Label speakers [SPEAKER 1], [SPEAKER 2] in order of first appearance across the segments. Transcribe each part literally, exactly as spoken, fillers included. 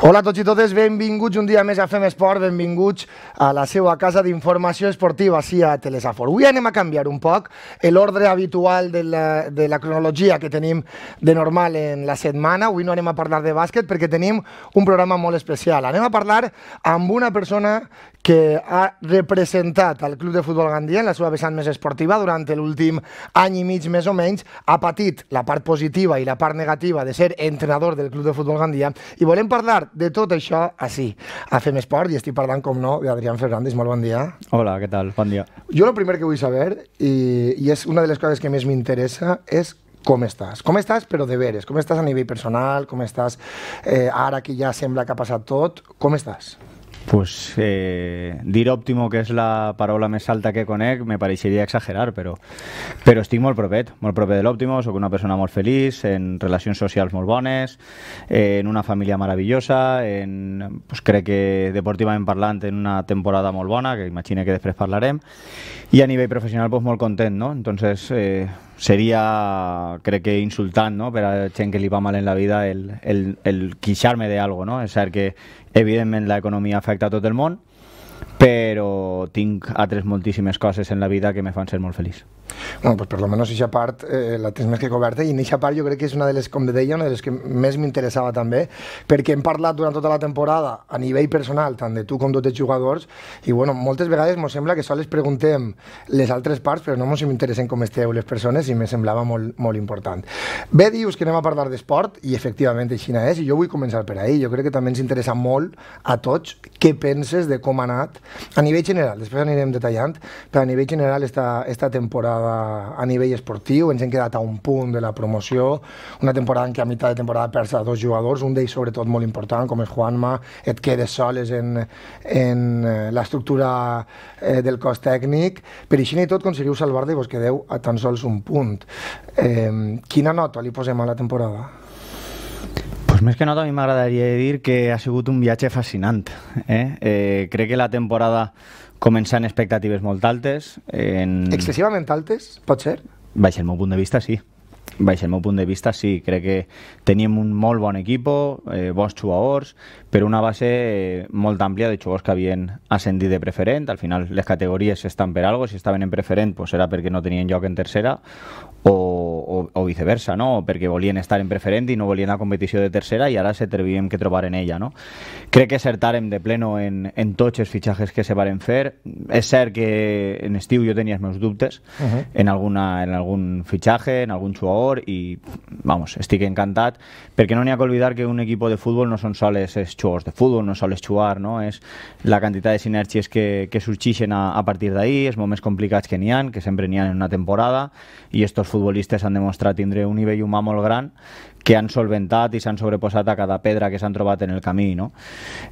[SPEAKER 1] Hola a tots i totes, benvinguts un dia més a Fem Esport, benvinguts a la seva casa d'informació esportiva, sí, a Telesafor. Avui anem a canviar un poc l'ordre habitual de la, de la cronologia que tenim de normal en la setmana. Avui no anem a parlar de bàsquet perquè tenim un programa molt especial. Anem a parlar amb una persona que ha representat al Club de Futbol Gandia en la seva vessant més esportiva durant l'últim any i mig més o menys. Ha patit la part positiva i la part negativa de ser entrenador del Club de Futbol Gandia i volem parlar de tot això així, a Fem Esport, i estic parlant, com no, d'Adrián Fernández. Molt bon dia.
[SPEAKER 2] Hola, què tal? Bon dia.
[SPEAKER 1] Jo el primer que vull saber, i, i és una de les coses que més m'interessa, és com estàs. Com estàs, però de veres. Com estàs a nivell personal, com estàs eh, ara que ja sembla que ha passat tot, com estàs?
[SPEAKER 2] Pues eh, dir òptimo, que és la paraula més alta que conec, me pareixeria exagerar, però, però estic molt propet, molt propet de l'òptimo, soc una persona molt feliç, en relacions socials molt bones, eh, en una família meravellosa, en, pues crec que deportivament parlant en una temporada molt bona, que imagine que després parlarem, i a nivell professional pues, molt content, no? Entonces eh, seria, crec que insultant, no? Per a gent que li va mal en la vida el, el, el queixar-me d'algo, no? És cert que evidentment l'economia afecta a tot el món, però tinc altres moltíssimes coses en la vida que me fan ser molt feliç.
[SPEAKER 1] Bueno, pues per lo menos aquesta part eh, la tens més que coberta, i en aquesta part jo crec que és una de les, com deia, una de les que més m'interessava també, perquè hem parlat durant tota la temporada a nivell personal, tant de tu com tots els jugadors, i bueno, moltes vegades mos sembla que sols preguntem les altres parts, però no mos interessen com esteu les persones, i me semblava molt, molt important. Bé, dius que anem a parlar d'esport, i efectivament així és, i jo vull començar per ahí. Jo crec que també ens interessa molt a tots què penses de com ha anat a nivell general, després anirem detallant, però a nivell general esta, esta temporada a nivell esportiu. Ens hem quedat a un punt de la promoció, una temporada en què a meitat de temporada perds a dos jugadors, un d'ells sobretot molt important, com és Juanma, et quedes soles en, en l'estructura eh, del cos tècnic, per així i tot aconseguiu salvar-te i vos quedeu a tan sols un punt. Eh, quina nota li posem a la temporada?
[SPEAKER 2] Pues més que nota, a mi m'agradaria dir que ha sigut un viatge fascinant. Eh? Eh, crec que la temporada comença en expectatives molt altes. En...
[SPEAKER 1] Excessivament altes, pot ser?
[SPEAKER 2] Baix el meu punt de vista, sí. Baix el meu punt de vista, sí. Crec que teníem un molt bon equip, eh, bons jugadors, però una base eh, molt àmplia de jugadors que havien ascendit de preferent. Al final les categories estan per algo, si estaven en preferent pues era perquè no tenien lloc en tercera, o, o, o viceversa, no? O perquè volien estar en preferent i no volien la competició de tercera i ara s'atrevíem que trobar en ella, no? Crec que acertàrem de pleno en, en tots els fitxatges que se varen fer. És cert que en estiu jo tenia els meus dubtes uh -huh. en, alguna, en algun fitxatge, en algun jugador, i vamos, estic encantat, perquè no n'hi ha que oblidar que un equip de futbol no són sols els jugadors de futbol, no sols jugar, no? És la quantitat de sinergies que, que sorgeixen a, a partir d'ahir, els moments complicats que n'hi ha, que sempre n'hi ha en una temporada, i estos futbolistes han demostrat tindre un nivell humà molt gran, que han solventat i s'han sobreposat a cada pedra que s'han trobat en el camí, no?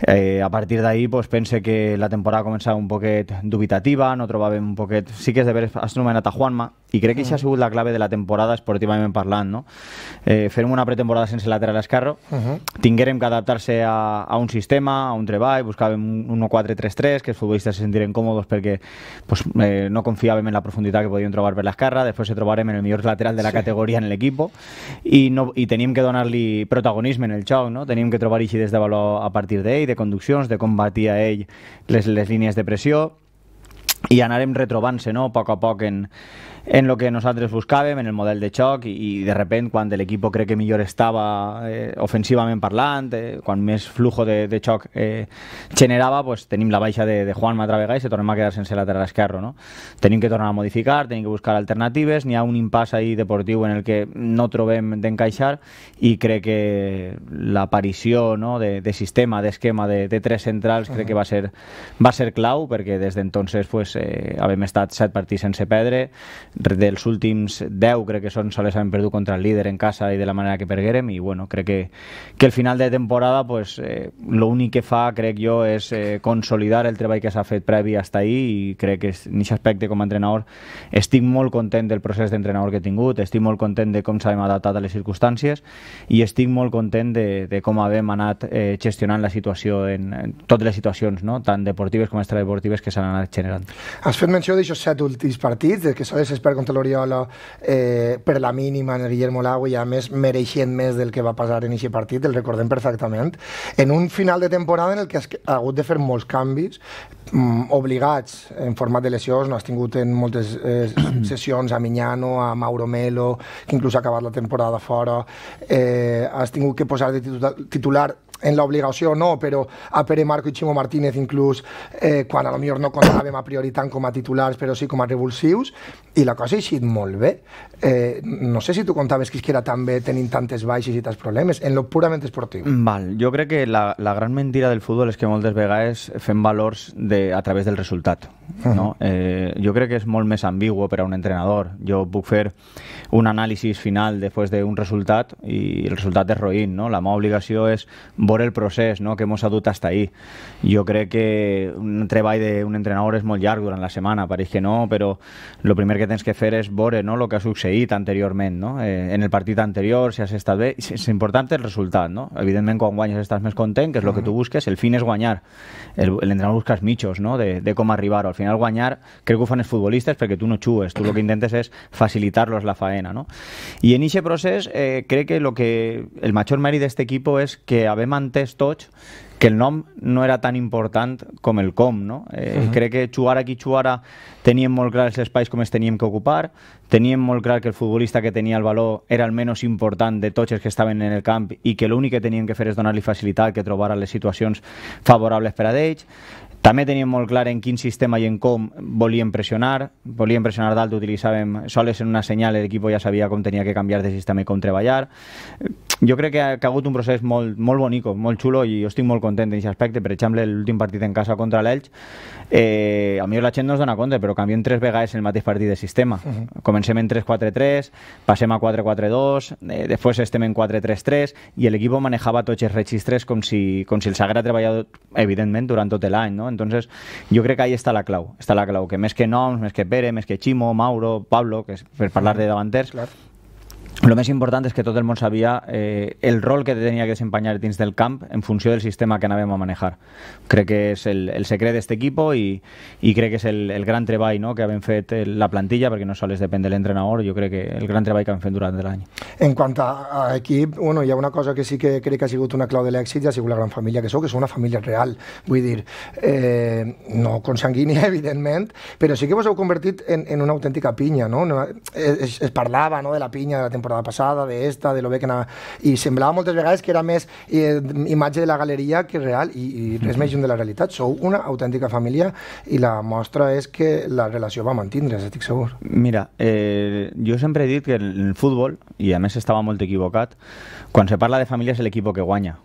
[SPEAKER 2] Eh, a partir d'ahir pues, pense que la temporada començava un poquet dubitativa, no trobàvem un poquet... Sí que és de veres, has nomenat a Juanma, i crec que això ha sigut la clave de la temporada esportivament parlant, no? Eh, fem una pretemporada sense lateral esquerre, uh -huh. tinguérem que adaptar-se a, a un sistema, a un treball, buscàvem un un quatre tres tres, que els futbolistes se sentiren còmodes perquè pues, eh, no confiàvem en la profunditat que podíem trobar per l'esquerra, després se trobarem en el millor lateral de la sí. categoria en l'equip, i, no, i tenim que donar-li protagonisme en el joc, no? Tenim que trobar eixides de valor a partir d'ell, de conduccions, de com batia ell les, les línies de pressió, i anarem retrobant-se, no? A poc a poc en, en el que nosaltres buscàvem, en el model de xoc, i, i de repent, quan l'equip crec que millor estava eh, ofensivament parlant, eh, quan més flujo de, de xoc eh, generava, pues, tenim la baixa de, de Juanma altra vegada i se tornem a quedar sense lateral esquerre, no? Tenim que tornar a modificar, tenim que buscar alternatives, n'hi ha un impàs ahí deportiu en el que no trobem d'encaixar, i crec que l'aparició, no, de, de sistema, d'esquema de, de tres centrals, crec que va ser, va ser clau, perquè des d'entonces pues, eh, havem estat set partits sense perdre, dels últims deu crec que són sols hem perdut contra el líder en casa i de la manera que perguérem, i bueno, crec que, que el final de temporada pues, eh, l'únic que fa crec jo és eh, consolidar el treball que s'ha fet previ fins ahir, i crec que en aquest aspecte com a entrenador estic molt content del procés d'entrenador que he tingut, estic molt content de com s'hem adaptat a les circumstàncies, i estic molt content de, de com hem anat eh, gestionant la situació en, en totes les situacions, no? Tant deportives com extradeportives que s'han anat generant.
[SPEAKER 1] Has fet menció d'aixòs set últims partits, de que s'ha desesperat contra l'Oriola eh, per la mínima en el Guillermo Lago i a més mereixent més del que va passar en aquest partit, el recordem perfectament, en un final de temporada en el que has hagut de fer molts canvis mm, obligats en format de lesions, no has tingut en moltes eh, sessions a Miñano, a Mauro Melo, que inclús ha acabat la temporada fora, eh, has tingut que posar de titular en l'obligació no, però a Pere Marco i Ximo Martínez inclús eh, quan a lo millor no comptàvem a priori tant com a titulars però sí com a revulsius i la cosa ha eixit molt bé. Eh, no sé si tu comptaves que era tan bé tenint tantes baixes i tants problemes en lo purament esportiu.
[SPEAKER 2] Val, jo crec que la, la gran mentira del futbol és que moltes vegades fem valors de, a través del resultat. No? Eh, jo crec que és molt més ambigu per a un entrenador. Jo puc fer un anàlisi final després d'un resultat i el resultat és roïn. No? La meva obligació és veure el procés, no? Que ens ha dut fins ahí. Jo crec que un treball d'un entrenador és molt llarg durant la setmana, pareix que no, però el primer que tens que fer és veure, no? El que ha succeït anteriorment, no? Eh, en el partit anterior, si has estat bé, és important el resultat, no? Evidentment, quan guanyes estàs més content, que és el que tu busques, el fin és guanyar. L'entrenador busca els mitjos, no? De, de com arribar-ho. Al final, guanyar, crec que ho fan els futbolistes perquè tu no xues, tu el que intentes és facilitar-los la faena, no? I en aquest procés, eh, crec que, lo que el major mèrit d'aquest equip és que havem entès tots que el nom no era tan important com el com, no? Eh, uh -huh. Crec que xugar aquí, xugar a, teníem molt clar els espais com es teníem que ocupar, teníem molt clar que el futbolista que tenia el valor era el menys important de tots els que estaven en el camp i que l'únic que teníem que fer és donar-li facilitat que trobara les situacions favorables per a ells. També teníem molt clar en quin sistema i en com volíem pressionar. Volíem pressionar dalt, utilitzàvem soles en una senyal, l'equip ja sabia com tenia que canviar de sistema i com treballar. Jo crec que ha, que ha hagut un procés molt, molt bonico, molt xulo i jo estic molt content en aquest aspecte. Per exemple, l'últim partit en casa contra l'Elx, eh, a mi la gent no es dona compte, però canviem tres vegades en el mateix partit de sistema. Uh -huh. Comencem en tres quatre tres, passem a quatre quatre dos, eh, després estem en quatre tres tres i l'equip manejava tots els registres com si, com si els haguera treballat, evidentment, durant tot l'any, no? Entonces, jo crec que ahí està la clau, està la clau, que més que noms, més que Pere, més que Ximo, Mauro, Pablo, que és per parlar de davanters, clar. El més important és que tot el món sabia eh, el rol que tenia que desempenyar dins del camp en funció del sistema que anàvem a manejar. Crec que és el, el secret d'aquest equip i, i crec que és el, el gran treball, no?, que hem fet la plantilla, perquè no sols depèn de l'entrenador, jo crec que el gran treball que hem fet durant l'any.
[SPEAKER 1] En quant a, a equip, bueno, hi ha una cosa que sí que crec que ha sigut una clau de l'èxit i ha sigut la gran família que sou, que sou una família real, vull dir, eh, no consanguínia, evidentment, però sí que vos heu convertit en, en una autèntica pinya, no? Es, es parlava, no?, de la pinya de la temporada passada, d'esta, de lo bé que anava, i semblava moltes vegades que era més eh, imatge de la galeria que real, i, i res més lluny de la realitat. Sou una autèntica família i la mostra és que la relació va mantindre's, estic segur.
[SPEAKER 2] Mira, eh, jo sempre he dit que en el futbol, i a més estava molt equivocat, quan se parla de família és l'equip que guanya,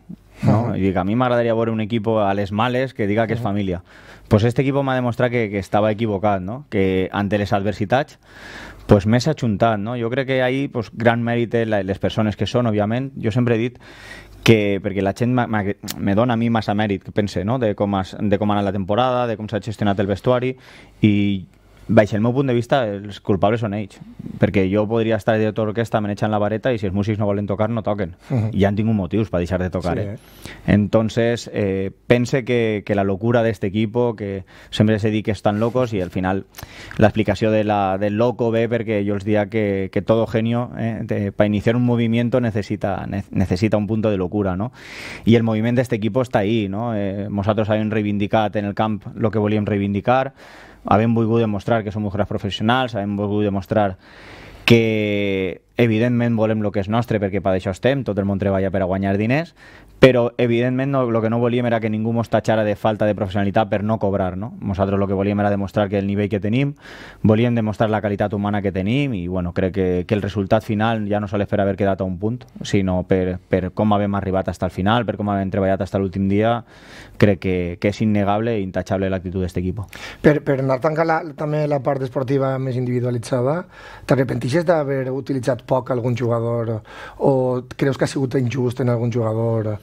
[SPEAKER 2] no? Uh -huh. I dic, a mi m'agradaria veure un equip a les males que diga que és família. Pues este equip m'ha demostrat que, que estava equivocat, no? Que ante les adversitats pues més ajuntat, no? Jo crec que ahí pues, gran mèrit té les persones que són, òbviament. Jo sempre he dit que, perquè la gent me dona a mi massa mèrit, que pense, no?, de com, has, de com ha anat la temporada, de com s'ha gestionat el vestuari, i baix el meu punt de vista, els culpables són ells, perquè jo podria estar de director d'orquestra manejant la vareta i si els músics no volen tocar, no toquen. Uh-huh. I ja han tingut motius per deixar de tocar. Sí, eh? Eh? Entonces, eh, pense que, que la locura de este equipo, que sempre se diu que estan locos i al final l'explicació de la, del loco ve perquè jo els diria que, que todo genio, eh, para iniciar un movimiento necesita, ne, necesita un punto de locura, no? I el moviment d'este equipo està ahí, no? Eh, nosaltres hem reivindicat en el camp el que volíem reivindicar, havem volgut demostrar que som jugadors professionals, havem volgut demostrar que evidentment volem el que és nostre perquè per això estem, tot el món treballa per a guanyar diners, però evidentment no, el que no volíem era que ningú mos tatxara de falta de professionalitat per no cobrar, no? Nosaltres el que volíem era demostrar que el nivell que tenim, volíem demostrar la qualitat humana que tenim i bueno, crec que, que el resultat final ja no sols per haver quedat a un punt, sinó per, per com havem arribat fins al final, per com havem treballat fins l'últim dia, crec que, que és innegable i intachable l'actitud d'aquest equip.
[SPEAKER 1] Per, per anar tancant la, també la part esportiva més individualitzada, t'arrepentixes d'haver utilitzat poc algun jugador o creus que ha sigut injust en algun jugador?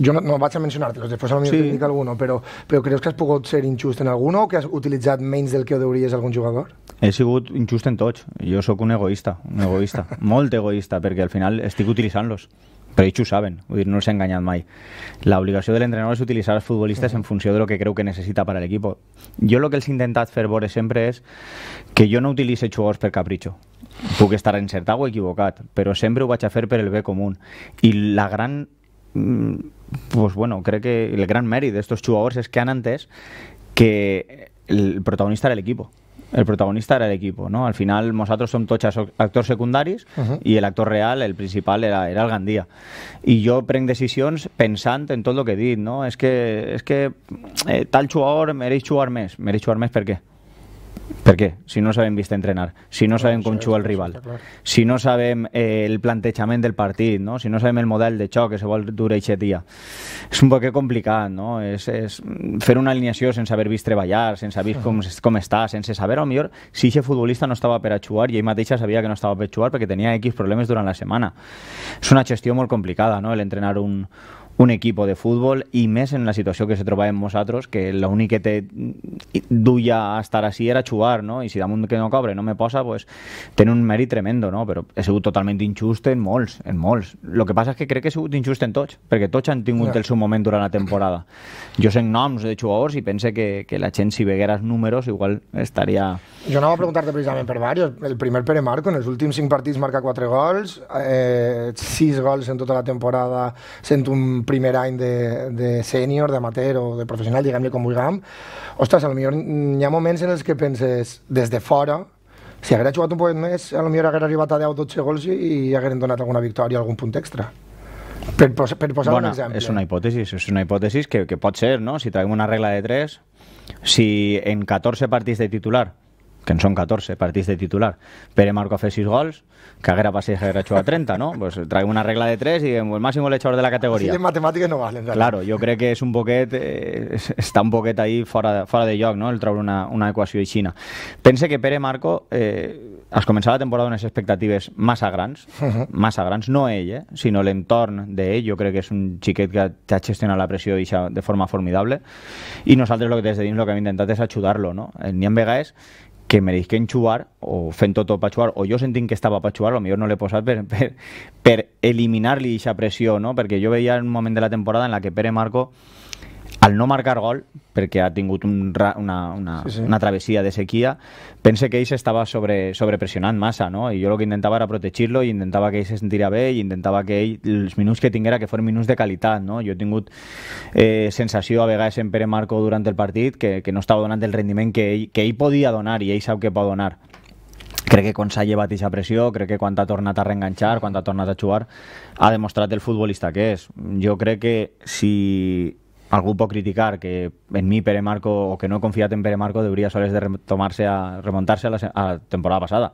[SPEAKER 1] Jo no, no vaig a mencionar-te-los, després a mi sí. Dic alguno, però, però creus que has pogut ser injust en alguno o que has utilitzat menys del que hauries algun jugador?
[SPEAKER 2] He sigut injust en tots. Jo sóc un egoista, un egoista, molt egoista, perquè al final estic utilitzant-los. però ells ho saben, vull dir, no els he enganyat mai. La obligació de l'entrenador és utilitzar els futbolistes uh -huh. en funció de lo que creu que necessita per a l'equip. Jo el que els he intentat fer veure sempre és que jo no utilitzo jugadors per capritxo. Puc estar encertat o equivocat, però sempre ho vaig a fer per el bé comú. I la gran... Pues bueno, crec que el gran mèrit d'estos jugadors és que han entès que el protagonista era el equipo. El protagonista era el equipo, ¿no? Al final nosotros som tots actors secundaris uh -huh. i el actor real, el principal, era, era el Gandia. I jo prenc decisions pensant en tot el que he dit, no? És que, és que eh, tal jugador mereix jugar més. Mereix jugar més per què? Per què? Si no sabem vist entrenar, si no sabem com juga el rival, si no sabem eh, el plantejament del partit, no? Si no sabem el model de xoc que se vol dur aquest dia. És un poc complicat, no? És, és fer una alineació sense haver vist treballar, sense haver vist com, com està, sense saber, a lo millor, si aquest futbolista no estava per a jugar i ell mateixa sabia que no estava per a jugar perquè tenia X problemes durant la setmana. És una gestió molt complicada, no?, l'entrenar un un equipo de futbol i més en la situació que se trobàvem nosaltres, que l'únic que te duia a estar així era jugar, no? I si damunt que no cobre no me posa, pues té un mèrit tremendo, no? Però he sigut totalment injust en molts, en molts. El que passa és que crec que he sigut injust en tots, perquè tots han tingut yeah. el seu moment durant la temporada. Jo sé noms de jugadors i pense que, que la gent, si veguera els números, igual estaria...
[SPEAKER 1] Jo anava a preguntar-te precisament per varios. El primer Pere Marco, en els últims cinc partits marca quatre gols, eh, sis gols en tota la temporada, sent un primer any de, de sènior, d'amateur o de professional, diguem-li com vulguem. Ostres, potser hi ha moments en els que penses, des de fora, si haguera jugat un poc més, potser haguera arribat a deu o dotze gols i, i hagueren donat alguna victòria, algun punt extra. Per, per posar
[SPEAKER 2] Bona,
[SPEAKER 1] un exemple.
[SPEAKER 2] És una hipòtesi, és una hipòtesi que, que pot ser, no? Si traiem una regla de tres, si en catorze partits de titular, que en són catorze partits de titular, Pere Marco fa sis gols, que haguera passat i haguera jugat trenta, no? Pues traiem una regla de tres i diguem, el màxim golejador de la categoria.
[SPEAKER 1] Sí, en matemàtiques no valen.
[SPEAKER 2] Claro, jo crec que és un poquet, eh, està un poquet ahí fora, fora de lloc, no?, el treure una, una equació aixina. Pense que Pere Marco eh, es començava la temporada unes expectatives massa grans, uh -huh. massa grans, no ell, eh, sinó l'entorn d'ell. Jo crec que és un xiquet que ha gestionat la pressió de forma formidable i nosaltres lo que des de dins el que hem intentat és ajudar-lo, no? N'hi ha vegades que mereixen jugar o fent tot per jugar, o jo sentint que estava per jugar, potser no l'he posat per, per, per eliminar-li aquesta pressió, no? Perquè jo veia un moment de la temporada en la que Pere Marco, al no marcar gol, perquè ha tingut un, una, una, sí, sí. una travessia de sequia, pense que ell s'estava sobre, sobrepressionant massa, no? I jo el que intentava era protegir-lo i intentava que ell se sentira bé i intentava que ell, els minuts que tinguera, que foren minuts de qualitat, no? Jo he tingut eh, sensació a vegades en Pere Marco durant el partit que, que no estava donant el rendiment que ell, que ell podia donar i ell sap que pot donar. Crec que quan s'ha llevat aquesta pressió, crec que quan ha tornat a reenganxar, quan ha tornat a jugar, ha demostrat el futbolista que és. Jo crec que si algú pot criticar que en mi Pere Marco, o que no he confiat en Pere Marco, debería soles de remontar-se a, remontar-se a, la, a la temporada passada,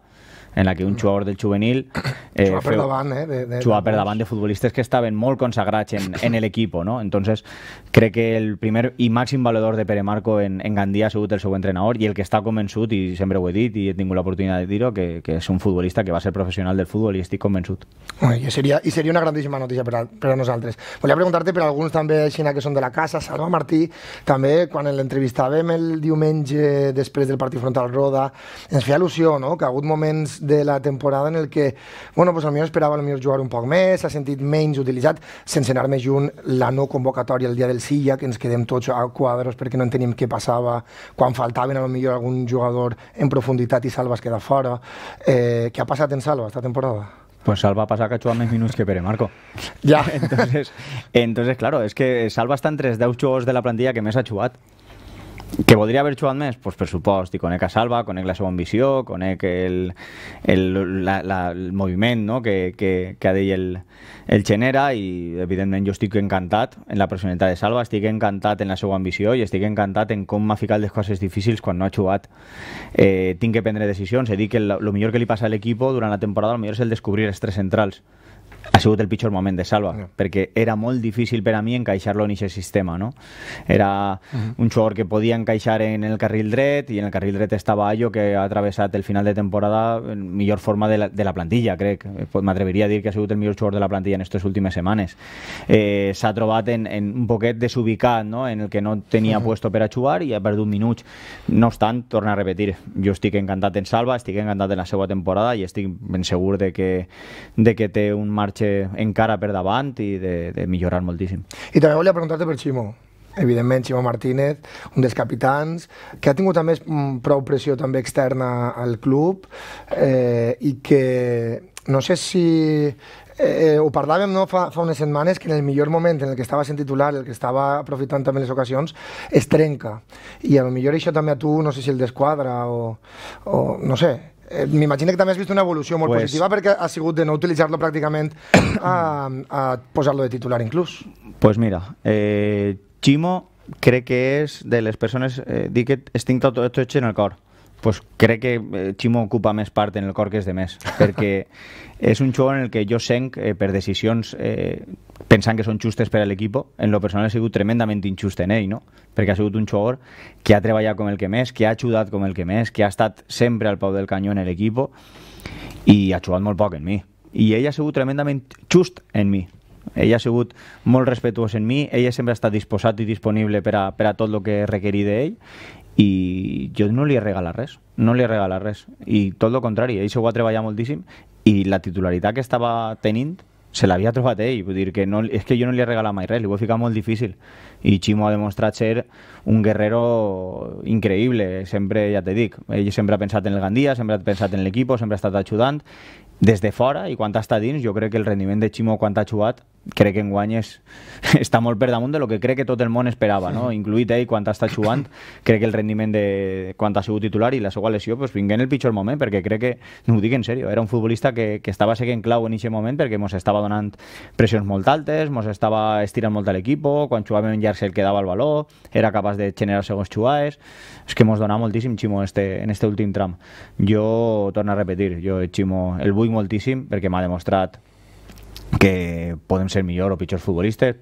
[SPEAKER 2] en la que un jugador del juvenil
[SPEAKER 1] eh, jugava per davant, eh, de, de,
[SPEAKER 2] jugava per davant de futbolistes que estaven molt consagrats en, en el equipo, ¿no? Entonces crec que el primer i màxim valedor de Pere Marco en, en Gandia ha sigut el seu entrenador i el que està convençut, i sempre ho he dit i he tingut l'oportunitat de dir-ho, que, que és un futbolista que va ser professional del futbol i estic convençut.
[SPEAKER 1] I seria, i seria una grandíssima notícia per a, per a nosaltres. Volia preguntar-te per alguns també aixina que són de la casa. Salva Martí, també quan l'entrevistàvem el diumenge després del partit front al Roda, ens feia il·lusió, no?, que ha hagut moments de la temporada en el que, bueno, pues potser esperava potser jugar un poc més, s'ha sentit menys utilitzat, sense anar més junt, la no convocatòria el dia del Silla, que ens quedem tots a quadros perquè no enteníem què passava quan faltaven a lo millor algun jugador en profunditat i Salva es queda fora. Eh, què ha passat en Salva esta temporada?
[SPEAKER 2] Pues Salva pasa que ha hecho más minutos que Pere Marco.
[SPEAKER 1] Ya.
[SPEAKER 2] Entonces, entonces, claro, es que Salva està entre els deu jugadors de la plantilla que més ha jugat. Que podria haver jugat més? Pues per supost, i conec a Salva, conec la seva ambició, conec el, el, la, la, el moviment, no?, que, que, que ha dit el, el genera, i evidentment jo estic encantat en la personalitat de Salva, estic encantat en la seva ambició i estic encantat en com m'ha ficat les coses difícils quan no ha jugat. Eh, tinc que prendre decisions, he dit que el millor que li passa a l'equip durant la temporada el millor és el descobrir els tres centrals. Ha sigut el pitjor moment de Salva, yeah. perquè era molt difícil per a mi encaixar-lo en aquest sistema, no? Era uh-huh. un jugador que podia encaixar en el carril dret, i en el carril dret estava Ayo, que ha travessat el final de temporada en millor forma de la, de la plantilla, crec. M'atreviria a dir que ha sigut el millor jugador de la plantilla en aquestes últimes setmanes. Eh, S'ha trobat en, en un poquet desubicat, no?, en el que no tenia uh-huh. puesto per a jugar i ha perdut minuts. No obstant, torna a repetir, jo estic encantat en Salva, estic encantat en la seva temporada i estic ben segur de que, de que té un marge marxa encara per davant i de, de millorar moltíssim.
[SPEAKER 1] I també volia preguntar-te per Ximo. Evidentment, Ximo Martínez, un dels capitans, que ha tingut també prou pressió també externa al club eh, i que no sé si... Eh, ho parlàvem no, fa, fa unes setmanes que en el millor moment en el que estava sent titular, el que estava aprofitant també les ocasions, es trenca. I a lo millor això també a tu, no sé si el desquadra o, o no sé. Eh, M'imagino que també has vist una evolució molt pues, positiva perquè ha sigut de no utilitzar-lo pràcticament a, a posar-lo de titular inclús.
[SPEAKER 2] Pues mira, eh, Ximo crec que és de les persones, eh, dic que estic tot, tot en el cor. Pues crec que eh, Ximo ocupa més part en el cor que és de més, perquè és un jugador en el que jo senc eh, per decisions eh, pensant que són justes per a l'equip. En lo personal he sigut tremendament injust en ell, no? Perquè ha sigut un jugador que ha treballat com el que més, que ha ajudat com el que més, que ha estat sempre al peu del canyó en l'equip i ha jugat molt poc en mi. I ell ha sigut tremendament just en mi. Ell ha sigut molt respectuós en mi, ell sempre ha estat disposat i disponible per a, per a tot el que requerí d'ell i jo no li he regalat res, no li he regalat res i tot el contrari, ell s'ho va treballar moltíssim i la titularitat que estava tenint se l'havia trobat ell, vull dir que no, és que jo no li he regalat mai res, li ho he ficat molt difícil i Ximo ha demostrat ser un guerrero increïble, sempre, ja te dic, ell sempre ha pensat en el Gandia, sempre ha pensat en l'equip, sempre ha estat ajudant des de fora i quan està dins jo crec que el rendiment de Ximo quan ha jugat crec que enguany és, està molt per damunt de lo que crec que tot el món esperava, no? Incluït ell quan està jugant, crec que el rendiment de quan ha sigut titular i la seva lesió pues, vingué en el pitjor moment, perquè crec que, no ho dic en sèrio, era un futbolista que, que estava seguint clau en aquest moment perquè mos estava donant pressions molt altes, mos estava estirant molt a l'equip, quan jugàvem en llarg el quedava el baló, era capaç de generar segons jugades, és que mos donava moltíssim Ximo este, en este últim tram. Jo, torno a repetir, jo Ximo el vull moltíssim perquè m'ha demostrat que podem ser millor o pitjors futbolistes,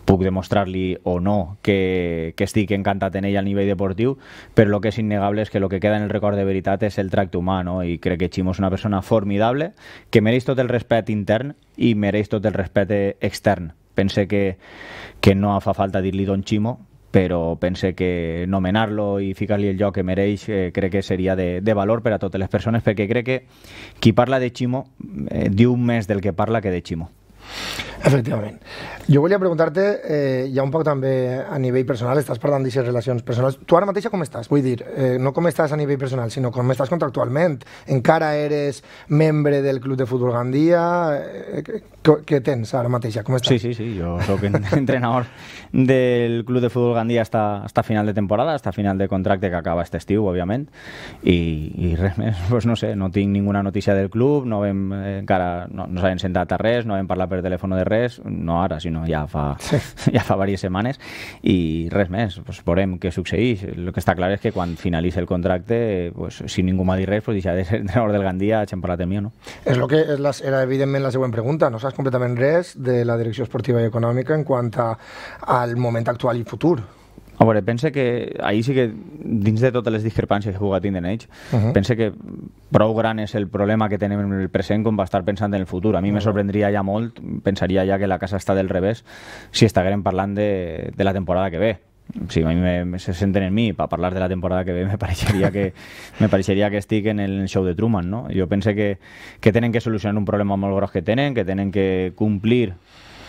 [SPEAKER 2] puc demostrar-li o no que, que estic encantat en ell a nivell deportiu, però el que és innegable és que el que queda en el record de veritat és el tracte humà, no? I crec que Ximo és una persona formidable que mereix tot el respecte intern i mereix tot el respecte extern. Pense que, que no fa falta dir-li Don Ximo, però pense que nomenar-lo i ficar-li el lloc que mereix eh, crec que seria de, de valor per a totes les persones, perquè crec que qui parla de Ximo eh, diu més del que parla que de Ximo.
[SPEAKER 1] Efectivament. Jo volia preguntar-te, eh, ja un poc també a nivell personal, estàs parlant d'aquestes relacions personals. Tu ara mateixa com estàs? Vull dir, eh, no com estàs a nivell personal, sinó com estàs contractualment. Encara eres membre del Club de Futbol Gandia? Eh, què tens ara mateixa? Com estàs?
[SPEAKER 2] Sí, sí, sí. Jo soc entrenador del Club de Futbol Gandia hasta, hasta final de temporada, hasta final de contracte que acaba este estiu, òbviament. I, i res més, pues no sé, no tinc ninguna notícia del club, no vam, eh, encara no, no s'havien sentat a res, no vam parlar per telèfon de res, no ara, sinó ja fa, sí. ja fa diverses setmanes i res més, pues veurem què succeeix. El que està clar és que quan finalitzi el contracte, pues, si ningú m'ha dit res, pues deixaré de ser entrenador del Gandia, hem parlat del mi, no?
[SPEAKER 1] És lo que és la, era evidentment la següent pregunta, no saps completament res de la direcció esportiva i econòmica en quant a, al moment actual i futur.
[SPEAKER 2] A veure, pense que ahir sí que, dins de totes les discrepàncies que puga tindre en ells, uh -huh. pense que prou gran és el problema que tenim en el present com va estar pensant en el futur. A mi uh -huh. me sorprendria ja molt, pensaria ja que la casa està del revés si estiguem parlant de, de la temporada que ve. Si a mi me, me se senten en mi per parlar de la temporada que ve, me pareixeria que, me pareixeria que estic en el show de Truman, no? Jo pense que, que tenen que solucionar un problema molt gros que tenen, que tenen que complir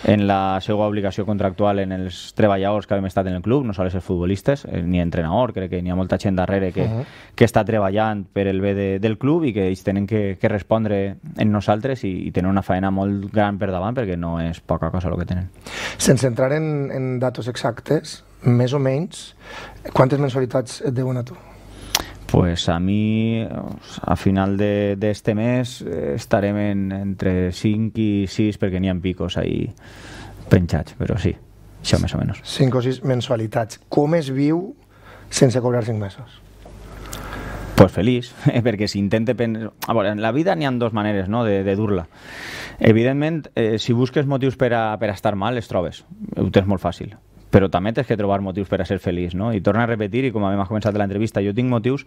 [SPEAKER 2] en la seva obligació contractual en els treballadors que hem estat en el club, no sols els futbolistes, eh, ni entrenador, crec que n'hi ha molta gent darrere que, uh -huh. que està treballant per el bé de, del club i que ells tenen que, que respondre en nosaltres i, i tenen una feina molt gran per davant perquè no és poca cosa el que tenen.
[SPEAKER 1] Sense entrar en, en datos exactes, més o menys, quantes mensualitats et deuen a tu?
[SPEAKER 2] Pues a mi, a final d'este mes, eh, estarem en, entre cinc i sis, perquè n'hi ha picos ahí penjats, però sí, això més o menys.
[SPEAKER 1] cinc o sis mensualitats. Com es viu sense cobrar cinc mesos?
[SPEAKER 2] Pues feliç, eh, perquè s'intenta... Pen... A veure, en la vida n'hi ha dues maneres, no?, de, de dur-la. Evidentment, eh, si busques motius per a, per a estar mal, els trobes. Ho tens molt fàcil. però també tens que trobar motius per a ser feliç, no? I torna a repetir, i com a mi m'has començat l'entrevista, jo tinc motius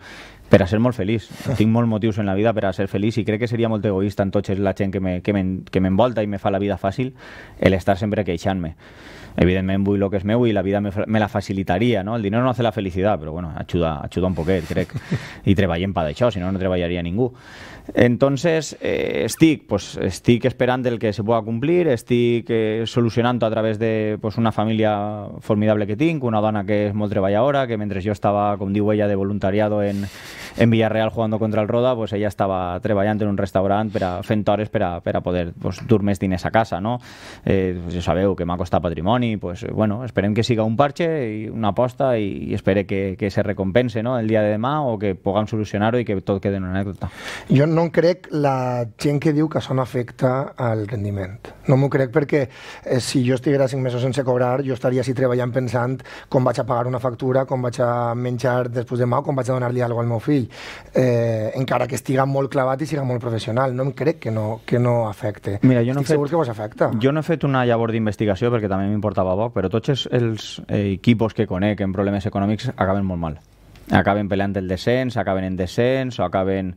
[SPEAKER 2] per a ser molt feliç, tinc molts motius en la vida per a ser feliç, i crec que seria molt egoista en tots la gent que m'envolta i me fa la vida fàcil el estar sempre queixant-me. Evidentment vull el que és meu i la vida me, me la facilitaria, no? El dinero no hace la felicidad, però bueno, ajuda, ajuda un poquet, crec, i treballem per això, si no, no treballaria ningú. Entonces, eh, estic, pues, estic esperant el que se pueda cumplir, estic eh, solucionant a través de pues, una família formidable que tinc, una dona que és molt treballadora, que mentre jo estava, com diu ella, de voluntariado en, en Villarreal jugando contra el Roda, pues ella estava treballant en un restaurant per a, fent hores per a, per a poder pues, dur més diners a casa, no? Eh, pues, ja sabeu que m'ha costat patrimoni, pues, bueno, esperem que siga un parche i una aposta i, i espere que, que se recompense, no? El dia de demà, o que puguem solucionar-ho i que tot quede en una anècdota.
[SPEAKER 1] Jo no crec la gent que diu que això no afecta al rendiment. No m'ho crec perquè eh, si jo estiguera cinc mesos sense cobrar, jo estaria així treballant pensant com vaig a pagar una factura, com vaig a menjar després demà o com vaig a donar-li alguna cosa al meu fill. Eh, encara que estiga molt clavat i siga molt professional. No em crec que no, que no afecte.
[SPEAKER 2] Mira, jo no
[SPEAKER 1] Estic
[SPEAKER 2] fet,
[SPEAKER 1] segur que vos afecta.
[SPEAKER 2] Jo no he fet una llavor d'investigació perquè també m'importava poc, però tots els, els eh, equipos que conec en problemes econòmics acaben molt mal. Acaben peleant el descens, acaben en descens o acaben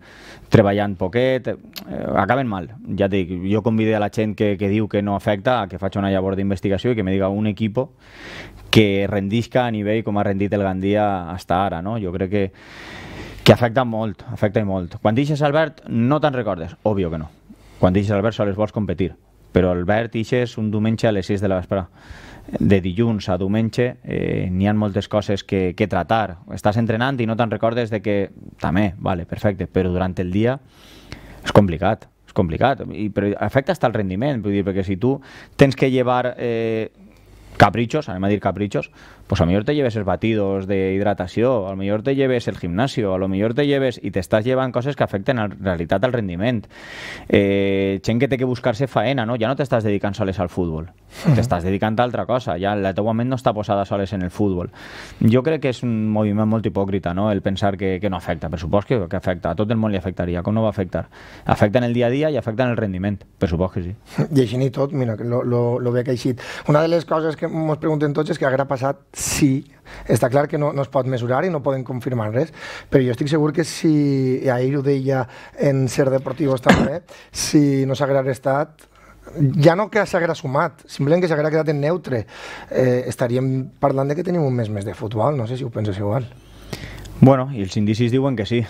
[SPEAKER 2] treballant poquet, eh, acaben mal. Ja dic, jo convido a la gent que, que diu que no afecta a que faci una llavor d'investigació i que me diga un equipo que rendisca a nivell com ha rendit el Gandia hasta ara, no? Jo crec que, que afecta molt, afecta molt. Quan deixes Albert no te'n recordes, òbvio que no. Quan deixes Albert sols vols competir, però Albert deixes un diumenge a les sis de la vesprada. De dilluns a diumenge eh, n'hi ha moltes coses que, que tratar. Estàs entrenant i no te'n recordes de que també, vale, perfecte, però durant el dia és complicat, és complicat, i, però afecta hasta el rendiment, vull dir, perquè si tu tens que llevar eh, caprichos, anem a dir caprichos, pues a lo mejor te lleves els batidos de hidratació, a lo mejor te lleves el gimnasio, a lo mejor te lleves i t'estàs llevant coses que afecten en realitat al rendiment. Eh, gent que té que buscar-se faena, no? Ja no t'estàs dedicant soles al futbol, uh-huh. t'estàs dedicant a altra cosa, ja la teua ment no està posada soles en el futbol. Jo crec que és un moviment molt hipòcrita, no? El pensar que, que no afecta, per supost que, que afecta, a tot el món li afectaria, com no va afectar? Afecta en el dia a dia i afecta en el rendiment, per supost que sí.
[SPEAKER 1] I així ni tot, mira, lo, lo, lo veig així. Una de les coses que ens preguntem tots és què haguera passat sí, està clar que no, no es pot mesurar i no poden confirmar res, però jo estic segur que si, i ahir ho deia en Ser Deportivos també, si no s'haguera restat, ja no que s'haguera sumat, simplement que s'haguera quedat en neutre, eh, estaríem parlant de que tenim un mes més de futbol, no sé si ho penses igual.
[SPEAKER 2] Bueno, i els indicis diuen que sí.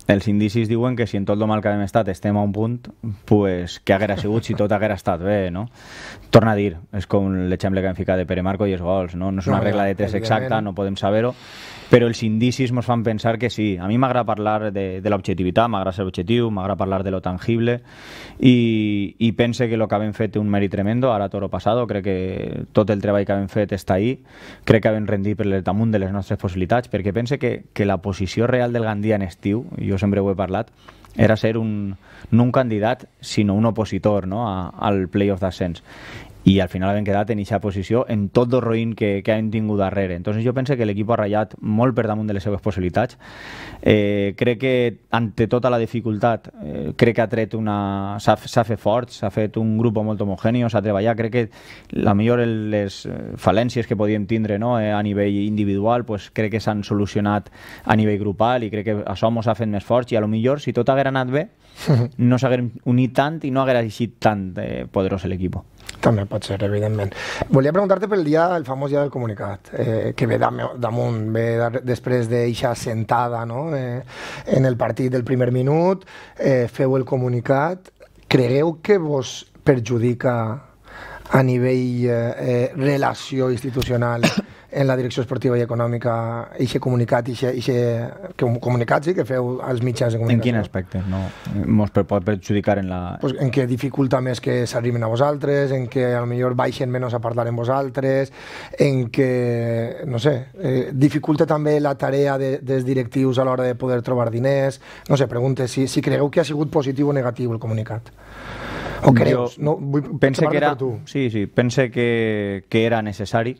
[SPEAKER 2] Els indicis diuen que si en tot el mal que hem estat estem a un punt, pues, què haguera sigut si tot haguera estat bé, no? Torna a dir, és com l'exemple que hem ficat de Pere Marco i els gols, no? No és una no, regla de tres exacta, no podem saber-ho, però els indicis ens fan pensar que sí. A mi m'agrada parlar de, de l'objectivitat, m'agrada ser objectiu, m'agrada parlar de lo tangible i, i pense que el que hem fet té un mèrit tremendo, ara toro passado, crec que tot el treball que hem fet està ahí, crec que hem rendit per damunt de les nostres possibilitats, perquè pense que, que la posició real del Gandia en estiu, jo sempre ho he parlat, era ser un, no un candidat, sinó un opositor, no? a, al playoff d'ascens. I al final hem quedat en aquesta posició en tot el roïn que, que hem tingut darrere. Entonces jo penso que l'equip ha ratllat molt per damunt de les seves possibilitats. Eh, crec que ante tota la dificultat eh, crec que ha tret una... s'ha fet fort, s'ha fet un grup molt homogèneo, s'ha treballat. Crec que la millor les falències que podíem tindre, no? eh, a nivell individual, pues, crec que s'han solucionat a nivell grupal i crec que això ens ha fet més forts i a lo millor si tot haguera anat bé no s'haguera unit tant i no haguera eixit tant eh, poderós l'equip.
[SPEAKER 1] També pot ser, evidentment. Volia preguntar-te pel dia, el famós dia del comunicat, eh, que ve damunt, ve després d'eixa sentada, no? eh, en el partit del primer minut, eh, feu el comunicat. Cregueu que vos perjudica a nivell eh, relació institucional en la direcció esportiva i econòmica eixe comunicat, eixe comunicat sí, que feu als mitjans de comunicació?
[SPEAKER 2] En quin aspecte? No, mos pot perjudicar en la...
[SPEAKER 1] Pues en què dificulta més que s'arriben a vosaltres, en què a lo millor baixen menys a parlar amb vosaltres, en què, no sé, eh, dificulta també la tarea de, dels directius a l'hora de poder trobar diners. No sé, pregunte si, si cregueu que ha sigut positiu o negatiu el comunicat. O creus?
[SPEAKER 2] Jo
[SPEAKER 1] no, vull
[SPEAKER 2] pense que era, sí, sí, pense que, que era necessari.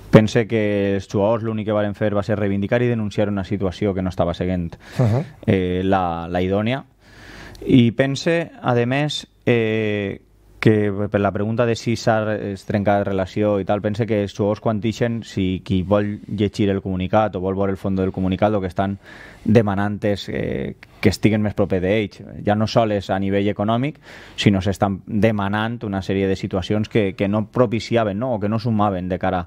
[SPEAKER 2] Pense que els jugadors l'únic que varen fer va ser reivindicar i denunciar una situació que no estava seguint uh-huh. eh, la, la idònia. I pense, a més, eh, que per la pregunta de si s'ha trencat relació i tal, pense que els jugadors quan dixen, si qui vol llegir el comunicat o vol veure el fons del comunicat, el que estan demanant és eh, que estiguen més proper d'ells. Ja no sols a nivell econòmic, sinó s'estan demanant una sèrie de situacions que, que no propiciaven, no? O que no sumaven de cara,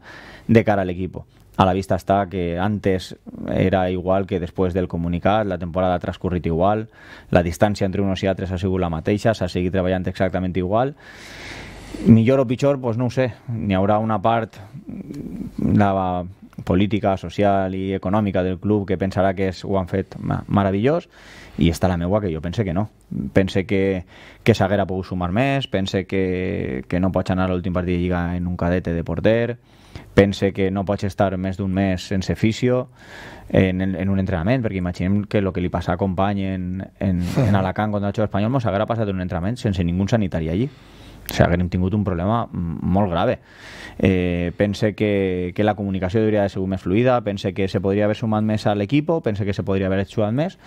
[SPEAKER 2] de cara a l'equip. A la vista està que antes era igual que després del comunicat, la temporada ha transcorrit igual, la distància entre uns i altres ha sigut la mateixa, s'ha seguit treballant exactament igual. Millor o pitjor, doncs no ho sé. N'hi haurà una part, la política, social i econòmica del club que pensarà que és, ho han fet meravellós, i està la meua que jo pense que no. Pense que, que s'haguera pogut sumar més, pense que, que no pots anar a l'últim partit de Lliga en un cadete de porter, pense que no pots estar més d'un mes sense fisio en, en un entrenament, perquè imaginem que el que li passa a company en, en, en Alacant contra el Xo Espanyol mos haguera passat en un entrenament sense ningú sanitari allí. O sigui, haguem tingut un problema molt grave. Eh, pense que, que la comunicació hauria de ser més fluida, pense que se podria haver sumat més a l'equip, pense que se podria haver jugat més,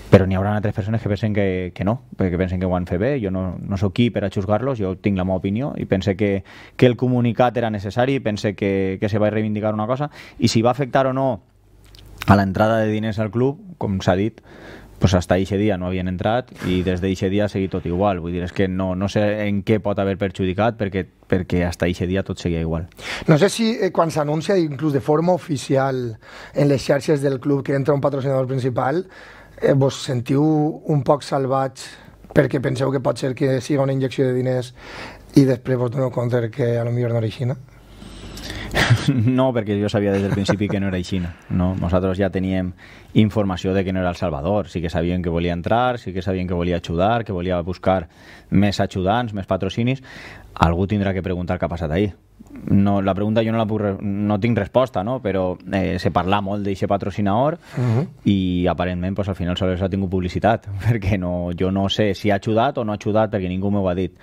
[SPEAKER 2] però n'hi haurà altres persones que pensen que, que no, que pensen que ho han fet bé. Jo no, no sóc qui per a juzgar-los, jo tinc la meva opinió i pense que, que el comunicat era necessari, pense que, que se va reivindicar una cosa, i si va afectar o no a l'entrada de diners al club, com s'ha dit, pues hasta eixe dia no havien entrat i des d'eixe dia ha seguit tot igual. Vull dir, és que no, no sé en què pot haver perjudicat perquè, perquè hasta eixe dia tot seguia igual.
[SPEAKER 1] No sé si eh, quan s'anuncia inclús de forma oficial en les xarxes del club que entra un patrocinador principal, eh, vos sentiu un poc salvats perquè penseu que pot ser que siga una injecció de diners i després vos doneu compte que a lo millor no era així, no?
[SPEAKER 2] No, perquè jo sabia des del principi que no era així. No? Nosaltres ja teníem informació de que no era El Salvador. Sí que sabien que volia entrar, sí que sabien que volia ajudar, que volia buscar més ajudants, més patrocinis. Algú tindrà que preguntar què ha passat ahir. No, la pregunta jo no la puc, no tinc resposta, no? Però eh, se parla molt d'aquest patrocinador uh-huh. i aparentment pues, al final sols ha tingut publicitat, perquè no, jo no sé si ha ajudat o no ha ajudat perquè ningú m'ho ha dit.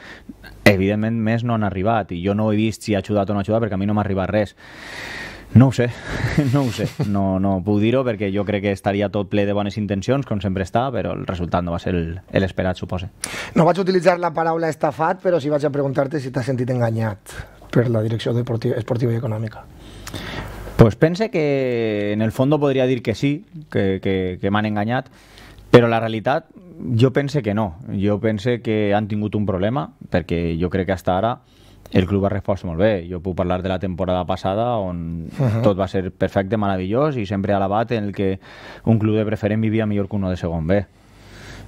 [SPEAKER 2] Evidentment més no han arribat i jo no he vist si ha ajudat o no ha ajudat perquè a mi no m'ha arribat res. No ho sé, no ho sé, no, no puc dir-ho perquè jo crec que estaria tot ple de bones intencions, com sempre està, però el resultat no va ser l'esperat, suposa.
[SPEAKER 1] No vaig utilitzar la paraula estafat, però sí vaig a preguntar-te si t'has sentit enganyat per la direcció deportiva, esportiva i econòmica.
[SPEAKER 2] Pues pense que en el fons podria dir que sí, que, que, que m'han enganyat, però la realitat jo pense que no. Jo pense que han tingut un problema, perquè jo crec que hasta ara el club ha respost molt bé. Jo puc parlar de la temporada passada on uh-huh. tot va ser perfecte, meravellós i sempre alabat en el que un club de preferent vivia millor que uno de segon B.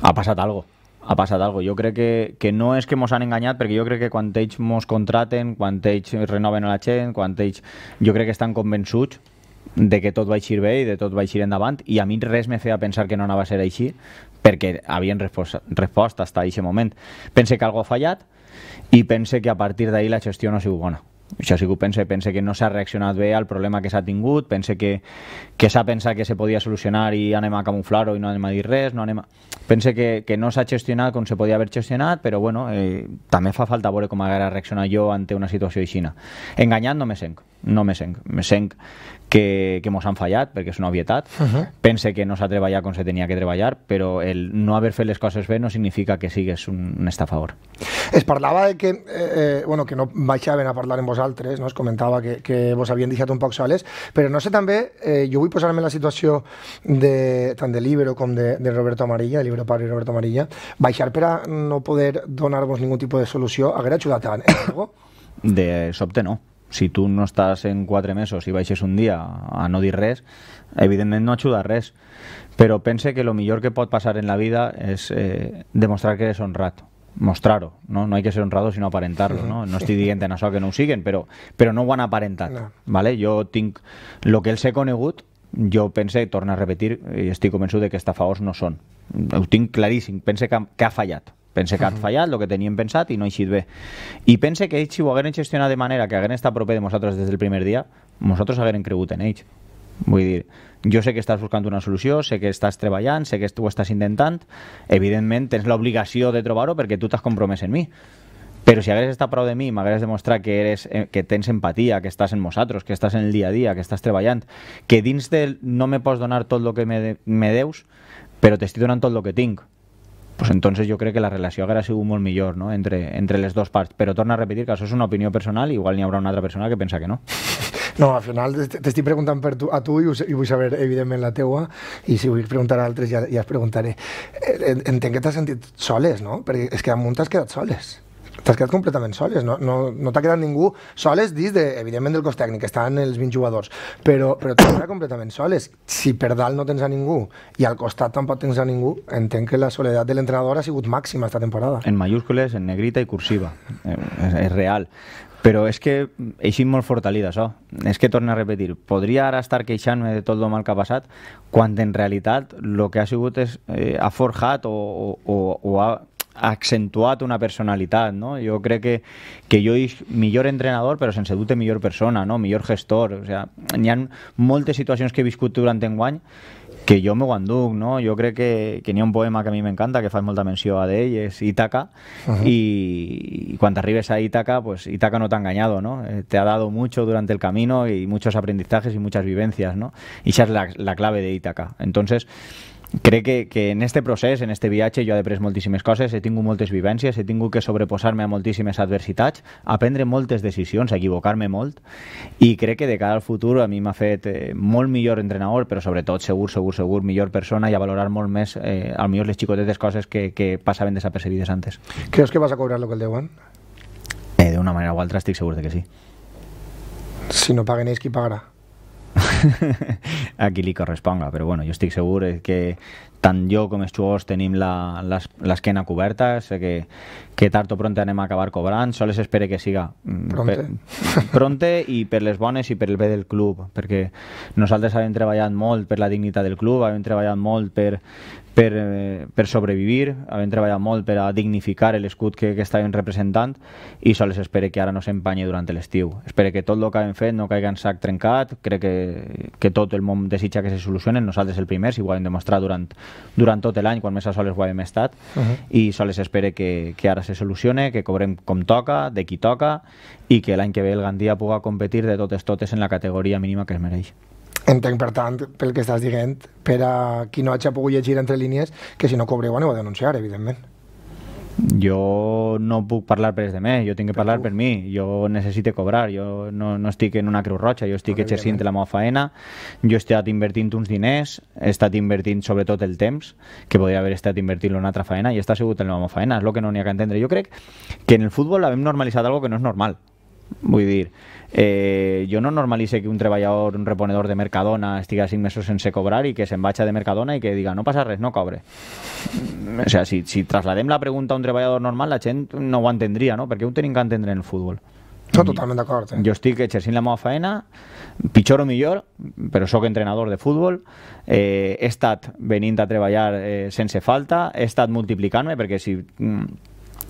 [SPEAKER 2] Ha passat algo. Ha passat algo. Jo crec que, que no és que mos han enganyat, perquè jo crec que quan ells mos contraten, quan ells renoven a la gent, quan ells... Jo crec que estan convençuts de que tot va eixir bé i de tot va eixir endavant, i a mi res me feia pensar que no anava a ser així, perquè havien respost, respost fins a aquest moment. Pense que algo ha fallat i pense que a partir d'ahir la gestió no ha sigut bona. Això sí que ho pense, pense que no s'ha reaccionat bé al problema que s'ha tingut, pense que, que s'ha pensat que se podia solucionar i anem a camuflar-ho i no anem a dir res, no anem a... Pense que, que no s'ha gestionat com se podia haver gestionat, però bueno, eh, també fa falta veure com haguera reaccionat jo ante una situació aixina. Enganyat no me senc, no me senc, me senc que, que mos han fallat, perquè és una obvietat. Uh-huh. Pense que no s'ha treballat com se tenia que treballar, però el no haver fet les coses bé no significa que sigues un, un estafador.
[SPEAKER 1] Es parlava de que, eh, bueno, que no baixaven a parlar amb vosaltres, no? Es comentava que, que vos havien deixat un poc soles, però no sé també, eh, jo vull posar-me en la situació de, tant de l'Ibero com de, de Roberto Amarilla, de l'Ibero Pablo i Roberto Amarilla, baixar per a no poder donar-vos ningú tipus de solució, haguera ajudat en algo?
[SPEAKER 2] De sobte no. Si tu no estàs en quatre mesos i baixes un dia a no dir res, evidentment no ajuda res. Però pense que el millor que pot passar en la vida és eh, demostrar que eres honrat. Mostrar-ho, no? No hay que ser honrado sinó aparentar-lo, no? No estic dient en això que no ho siguen, però, però no ho han aparentat, no. Vale? Jo tinc el que els he conegut, jo pense, torno a repetir, i estic convençut de que estafadors no són. Ho tinc claríssim, pense que, que ha fallat. Pense que ha fallat el que teníem pensat i no ha eixit bé. I pense que ells, si ho hagueren gestionat de manera que hagueren estat proper de nosaltres des del primer dia, nosaltres hagueren cregut en ells. Vull dir, jo sé que estàs buscant una solució, sé que estàs treballant, sé que tu ho estàs intentant, evidentment tens l'obligació de trobar-ho perquè tu t'has compromès en mi. Però si hagués estat prou de mi, m'hagués demostrat que, eres, que tens empatia, que estàs en nosaltres, que estàs en el dia a dia, que estàs treballant, que dins del no me pots donar tot el que me, me deus, però t'estic donant tot el que tinc. pues entonces jo crec que la relació hauria sigut molt millor, no? entre, entre les dues parts, però torna a repetir que això és una opinió personal i igual n'hi haurà una altra persona que pensa que no.
[SPEAKER 1] No, al final t'estic preguntant per tu, a tu i, i vull saber evidentment la teua, i si vull preguntar a altres ja, ja es preguntaré. Entenc que t'has sentit soles, no? Perquè és que amunt t'has quedat soles. T'has quedat completament soles, no, no, no t'ha quedat ningú soles dins, de, evidentment, del cos tècnic, estan els vint jugadors, però, però t'has quedat completament soles. Si per dalt no tens a ningú i al costat tampoc tens a ningú, entenc que la soledat de l'entrenador ha sigut màxima esta temporada.
[SPEAKER 2] En mayúscules, en negrita i cursiva. Eh, és, és real. Però és que eixim molt fortalida, això. És que, torno a repetir, podria ara estar queixant-me de tot el mal que ha passat, quan en realitat el que ha sigut és, eh, ha forjat o, o, o ha accentuat una personalitat, no? Jo crec que, que jo és millor entrenador però sense dubte millor persona, no? Millor gestor, o sea, hi ha moltes situacions que he viscut durant enguany que jo m'ho enduc, no? Jo crec que, que n'hi ha un poema que a mi m'encanta, que fa molta menció a d'ell, és Ítaca, uh -huh. y, y cuando arribes a Ítaca, pues Ítaca no te ha engañado, ¿no? Eh, te ha dado mucho durante el camino y muchos aprendizajes y muchas vivencias, ¿no? Y esa es la, la clave de Ítaca. Entonces, crec que, que en este procés, en este viatge, jo he après moltíssimes coses, he tingut moltes vivències, he tingut que sobreposar-me a moltíssimes adversitats, aprendre moltes decisions, equivocar-me molt, i crec que de cara al futur a mi m'ha fet eh, molt millor entrenador, però sobretot segur, segur, segur, millor persona i a valorar molt més, eh, al millor les xicotetes coses que, que passaven desapercebides antes.
[SPEAKER 1] Creus que vas a cobrar lo que el deuen?
[SPEAKER 2] Eh, D'una manera o altra estic segur de que sí.
[SPEAKER 1] Si no paguen ells, qui pagarà?
[SPEAKER 2] A qui li corresponga, però bueno, jo estic segur que tant jo com els jugadors tenim l'esquena coberta, sé que, que tard o pronte anem a acabar cobrant, sols espero que siga
[SPEAKER 1] pronte.
[SPEAKER 2] Per, pronte i per les bones i per el bé del club, perquè nosaltres hem treballat molt per la dignitat del club, hem treballat molt per, per, per sobrevivir, hem treballat molt per a dignificar l'escut que, que estàvem representant, i sols espero que ara no s'empanye durant l'estiu. Espero que tot el que hem fet no caigui en sac trencat, crec que, que tot el món desitja que se solucionen, nosaltres el primer, si ho hem demostrat durant durant tot l'any, quan més a soles ho hem estat, uh -huh. i sols espero que, que ara se solucione, que cobrem com toca, de qui toca, i que l'any que ve el Gandia puga competir de totes totes en la categoria mínima que es mereix.
[SPEAKER 1] Entenc, per tant, pel que estàs dient, per a qui no hagi pogut llegir entre línies, que si no cobreu aneu a denunciar, evidentment.
[SPEAKER 2] Jo no puc parlar per els demés, jo tinc que parlar per mi, jo necessito cobrar, jo no, no estic en una Creu Roja, jo estic exercint la meva faena, jo he estat invertint uns diners, he estat invertint sobretot el temps, que podria haver estat invertint en una altra faena, i està sigut en la meva faena, és el que no n'hi ha que entendre. Jo crec que en el futbol hem normalitzat algo que no és normal. Vull dir, eh, jo no normalitze que un treballador, un reponedor de Mercadona estigui cinc mesos sense cobrar i que se'n vagi de Mercadona i que diga no passa res, no cobre. O sea, si, si trasladem la pregunta a un treballador normal, la gent no ho entendria, no? Perquè ho tenim que entendre en el futbol.
[SPEAKER 1] No, totalment d'acord. Eh?
[SPEAKER 2] Jo estic exercint la meva feina, pitjor o millor, però sóc entrenador de futbol, eh, he estat venint a treballar eh, sense falta, he estat multiplicant-me, perquè si... Mm,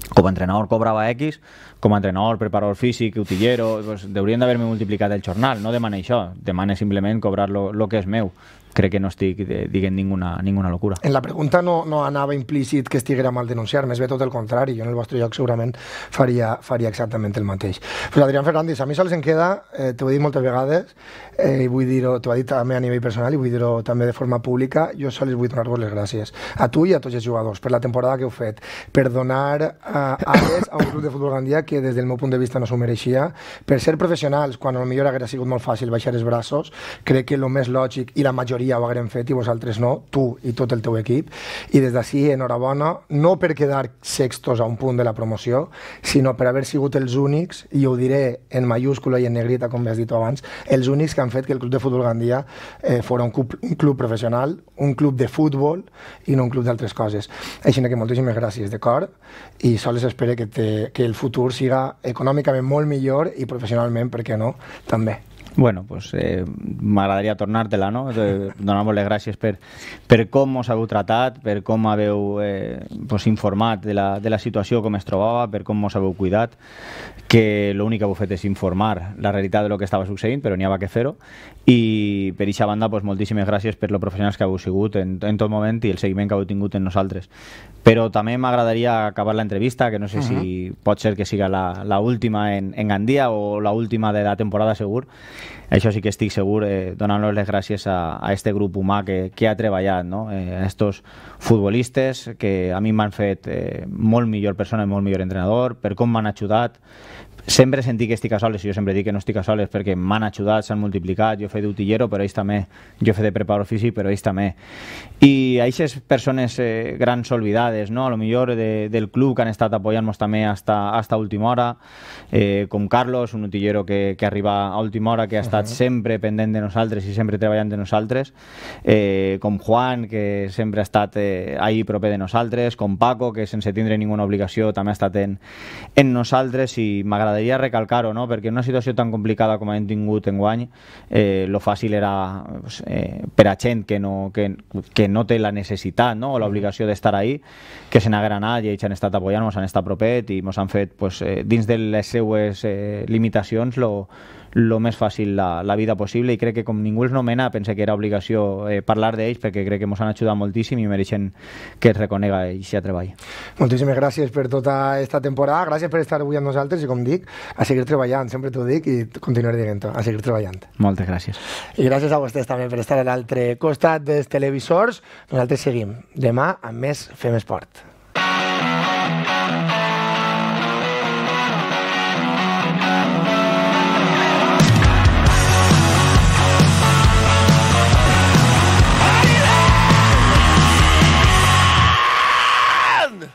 [SPEAKER 2] com a entrenador cobrava X, com a entrenador, preparador físic, utillero, pues, haurien d'haver-me multiplicat el jornal. No demana això, demana simplement cobrar lo que és meu. Crec que no estic dient ninguna, ninguna locura.
[SPEAKER 1] En la pregunta no, no anava implícit que estiguera mal denunciar, més bé tot el contrari. Jo en el vostre lloc segurament faria, faria exactament el mateix. Pues Adrián Fernández, a mi sols em queda, eh, t'ho he dit moltes vegades, eh, i vull dir-ho, t'ho he dit també a nivell personal i vull dir-ho també de forma pública, jo sols vull donar-vos les gràcies a tu i a tots els jugadors per la temporada que heu fet, per donar eh, ales a un club de futbol Gandia que des del meu punt de vista no s'ho mereixia, per ser professionals, quan potser hauria sigut molt fàcil baixar els braços, crec que el més lògic, i la majoria ho haguem fet i vosaltres no, tu i tot el teu equip, i des d'ací enhorabona, no per quedar sextos a un punt de la promoció, sinó per haver sigut els únics, i ho diré en mayúscula i en negrita, com has dit abans, els únics que han fet que el Club de Futbol Gandia eh, fos un, un club professional, un club de futbol i no un club d'altres coses. Així que moltíssimes gràcies de cor, i sols espero que, te, que el futur siga econòmicament molt millor i professionalment, per què no, també.
[SPEAKER 2] Bueno, pues eh, m'agradaria tornar-te-la, no? Donar-vos les gràcies per, per com us heu tratat, per com haveu eh, pues, informat de la, de la situació com es trobava, per com us heu cuidat, que l'únic que heu fet és informar la realitat de lo que estava succeint, però n'hi havia que fer-ho, i per aquesta banda pues, moltíssimes gràcies per lo professionals que heu sigut en, en tot moment i el seguiment que heu tingut en nosaltres. Però també m'agradaria acabar l'entrevista, que no sé uh -huh. si pot ser que siga la, la última en, en Gandia o la última de la temporada segur, això sí que estic segur, eh, donant-los les gràcies a, a este grup humà que, que ha treballat, no? eh, a estos futbolistes que a mi m'han fet eh, molt millor persona i molt millor entrenador, per com m'han ajudat. Sempre sentir que estic a soles, i jo sempre dic que no estic a soles perquè m'han ajudat, s'han multiplicat, jo he fet d'utillero, però ells també, jo he fet de preparador físic, però ells també. I aquestes persones eh, grans olvidades, no? A lo millor de, del club que han estat apoyant-nos també hasta, hasta última hora, eh, com Carlos, un utillero que, que arriba a última hora, que ha estat uh -huh. sempre pendent de nosaltres i sempre treballant de nosaltres, eh, com Juan, que sempre ha estat eh, ahí proper de nosaltres, com Paco, que sense tindre ninguna obligació també ha estat en, en nosaltres, i m'agradaria recalcar-ho, no? Perquè en una situació tan complicada com hem tingut enguany, eh, lo fàcil era pues, eh, per a gent que no, que, que no té la necessitat, no? O l'obligació d'estar ahí, que se n'haguera anat, i ells han estat apoyant, ens han estat propet i ens han fet pues, eh, dins de les seues eh, limitacions lo, lo més fàcil la, la vida possible, i crec que com ningú els nomena pense que era obligació eh, parlar d'ells, perquè crec que ens han ajudat moltíssim i mereixen que es reconega aquest treball.
[SPEAKER 1] Moltíssimes gràcies per tota aquesta temporada, gràcies per estar avui amb nosaltres i, com dic, a seguir treballant, sempre t'ho dic i continuaré dient-ho, a seguir treballant.
[SPEAKER 2] Moltes gràcies.
[SPEAKER 1] I gràcies a vostès també per estar a l'altre costat dels televisors. Nosaltres seguim demà amb més Fem Esport.